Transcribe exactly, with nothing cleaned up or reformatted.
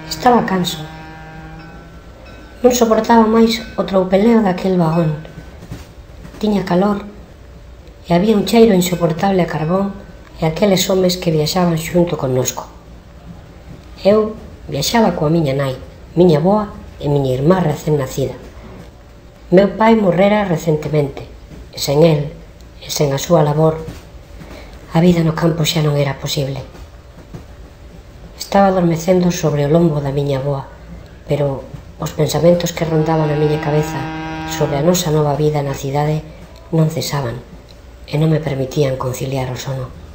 Estaba canso. Non soportaba máis o troupeleo daquel vagón. Tiña calor e había un cheiro insoportable a carbón e aqueles homes que viaxaban xunto connosco. Eu viaxaba coa miña nai, miña avoa e miña irmá recén nacida. Meu pai morrera recentemente, e sen el, e sen a súa labor, a vida no campo xa non era posible. Estaba adormecendo sobre o lombo da miña avoa, pero os pensamentos que rondaban a miña cabeza sobre a nosa nova vida na cidade non cesaban e non me permitían conciliar o sono.